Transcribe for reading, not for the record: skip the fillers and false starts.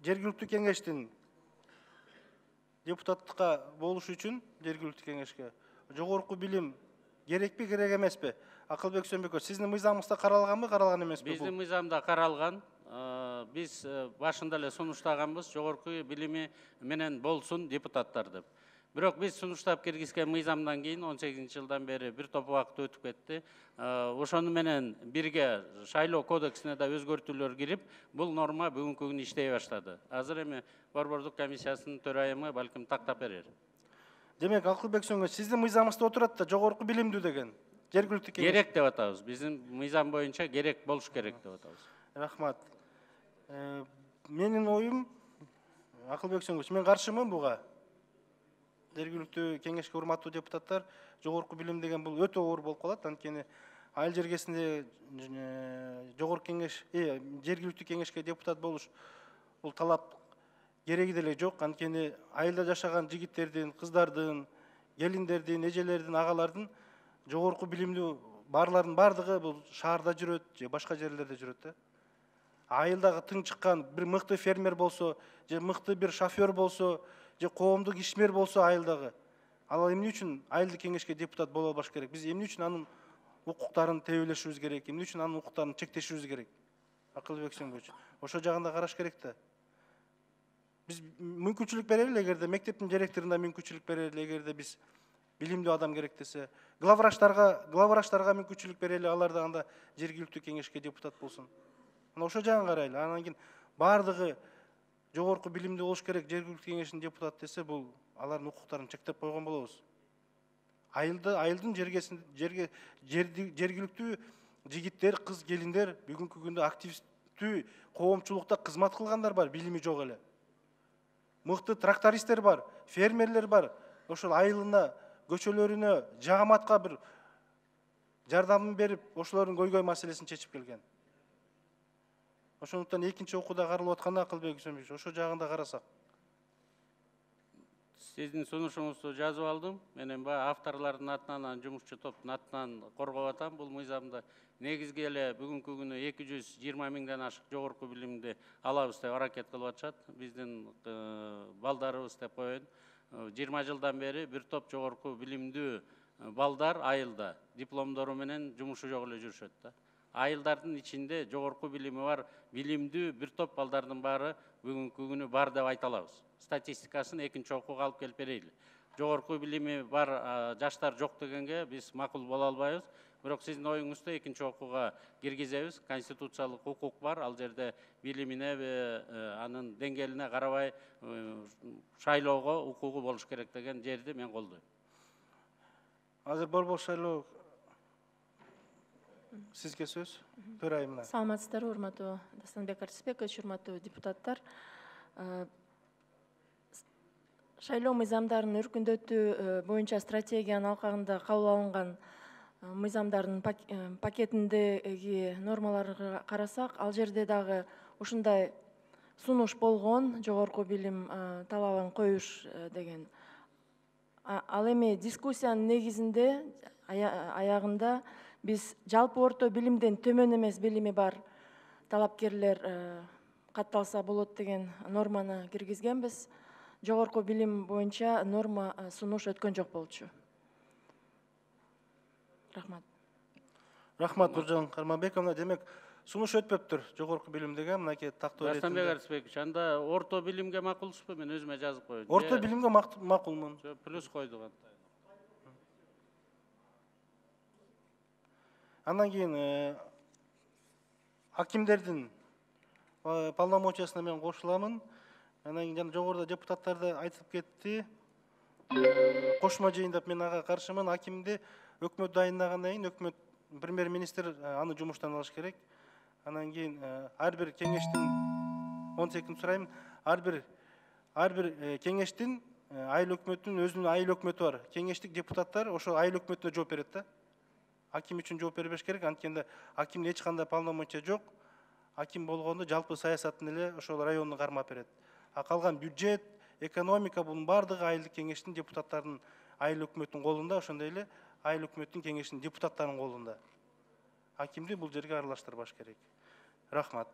жергиликтүү кеңештин депутаттыкка болуш үчүн жергиликтүү кеңешке жогорку билим керекпи, керек эмеспи? Акылбек Сөнбекович, сиздин мыйзамыңызда каралганбы, каралган эмеспи? Биздин мыйзамда каралган. Биз башында эле сунуштаганбыз, жогорку билими менен болсун депутаттар деп. Бирок биз сунуштап киргизген мыйзамдан кийин 18-жылдан бери бир топ убакыт өтүп кетти. Ошону менен бирге шайлоо кодексине да өзгөртүүлөр кирип, бул норма бүгүнкү күнү иштей баштады. Азыр эми борбордук комиссиясынын төрайымы балким тактап берер. Демек, Акылбек Сөнбекович, сиздин мыйзамыңызда отурат да жогорку билимдүү деген. Жергиликтүү кеңеш. Керек деп атабыз. Биздин мыйзам боюнча керек болуш керек деп атабыз. Рахмат. Менин оюм, Акылбек Сөнбекович, мен каршымын буга. Жергиликтүү кеңешке урматтуу депутаттар, жогорку билим деген бул өтө оор болуп калат. Анткени айыл жергесинде жогорку кеңеш, жергиликтүү кеңешке депутат болуш бул талап кереги деле жок. Анткени айылда жашаган жигиттердин, кыздардын, келиндердин, эжелердин, агалардын жогорку билимдүү барлардын бардыгы бул шаарда жүрөт же башка жерлерде жүрөт да. Айылдагы тың чыккан бир мыкты фермер болсо, же мыкты бир шофер болсо, же коомдук ишмер болсо айылдагы, ал эмне үчүн айылдык кеңешке депутат боло албаш керек? Биз эмне үчүн анын укуктарын тебелешибиз керек? Эмне үчүн анын укуктарын чектешибиз керек? Акылбек Сөнбекович, ошо жагын да караш керек да. Биз мүмкүнчүлүк берели, эгерде мектептин директоруна мүмкүнчүлүк берели, эгерде биз билимдүү адам керек десе, главврачтарга мүмкүнчүлүк берели, алар да анда жергиликтүү кеңешке депутат болсун. Ошо жагын карайлы. Анан кийин бардыгы жогорку билимдүү болуш керек, жергиликтүү кеңештин депутаты десе, бул алардын укуктарын чектеп койгон болобуз. Айылдын жергиликтүү жигиттер, кыз келиндер бүгүнкү күндө активдүү коомчулукта кызмат кылгандар бар, билими жок эле. Мыкты трактористтер бар, фермерлер бар. Ошол айылына, көчөлөрүнө, жагаматка бир жардамын берип, ошолордун көйгөй маселесин чечип келген. Ошондуктан экинчи окууда каралып атканда, Акылбек Сөнбекович, ошо жагын да карасак. Сиздин сунушуңузду жазып алдым. Менен баягы авторлордун атынан, жумушчу топтун атынан коргоп атам бул мыйзамды. Негизги эле бүгүнкү күнү 220 миңден ашык жогорку билимди алабыз деп аракет кылып атышат. Биздин балдарыбыз деп коеюн. 20 жылдан бери бир топ жогорку билимдүү балдар айылда дипломдору менен жумушу жок эле жүрүшөт да. Айылдардын ичинде жогорку билими бар, билимдүү бир топ балдардын баары бүгүнкү күнү бар деп айта алабыз. Статистикасын экинчи окууга алып келип берейли. Жогорку билими бар жаштар жок дегенге биз макул боло албайбыз. Бирок сиздин оюңузду экинчи окууга киргизебиз. Конституциялык укук бар. Ал жерде билимине, анын деңгээлине карабай шайлоого укугу болуш керек деген жерди мен колдойм. Азыр борбор шайлоо сизге сөз. Төрайымына. Саламатсыздарбы, урматтуу Дастанбек Артисбекович, урматтуу депутаттар. Шайлоо мыйзамдарынын өркүндөтүү боюнча стратегиянын алкагында кабыл алынган мыйзамдардын пакетиндеги нормаларга карасак, ал жерде дагы ушундай сунуш болгон, жогорку билим талабын коюш деген. Ал эми дискуссиянын негизинде аягында биз жалпы орто билимден төмөн эмес билими бар талапкерлер катталса болот деген норманы киргизгенбиз. Жогорку билим боюнча норма сунуш өткөн жок болчу. Рахмат. Рахмат, Нуржан Карманбековна. Демек, сунуш өтпөптүр жогорку билим деген мынакей тактоо иретинде. Дастанбек Артисбекович, анда орто билимге макулсузбу? Мен өзүмө жазып коеюн. Орто билимге макулмун. Плюс койдук анда. Андан кийин акимдердин полномочиясына мен кошуламын. Анан кийин жана жогоруда депутаттар да айтып кетти. Кошмо жыйындап мен ага каршымын. Акимди өкмөт дайындагандан кийин өкмөт премьер-министр аны жумуштан алыш керек. Анан кийин ар бир кеңештин 10 секунд сурайм. Ар бир кеңештин айыл өкмөтүнүн өзүнүн айыл өкмөтү бар. Кеңештик депутаттар ошо айыл өкмөтүнө жооп берет да. Аким үчүн жооп бербеш керек. Анткенде акимдин эч кандай полномочия жок. Аким болгондо жалпы саясатын эле ошол районду кармап берет. А калган бюджет, экономика бунун бардыгы айылдык кеңештин депутаттарынын айыл өкмөттүн колунда, ошондой эле айыл өкмөттүн кеңештин депутаттарынын колунда. Акимди бул жерге аралаштырбаш керек. Рахмат.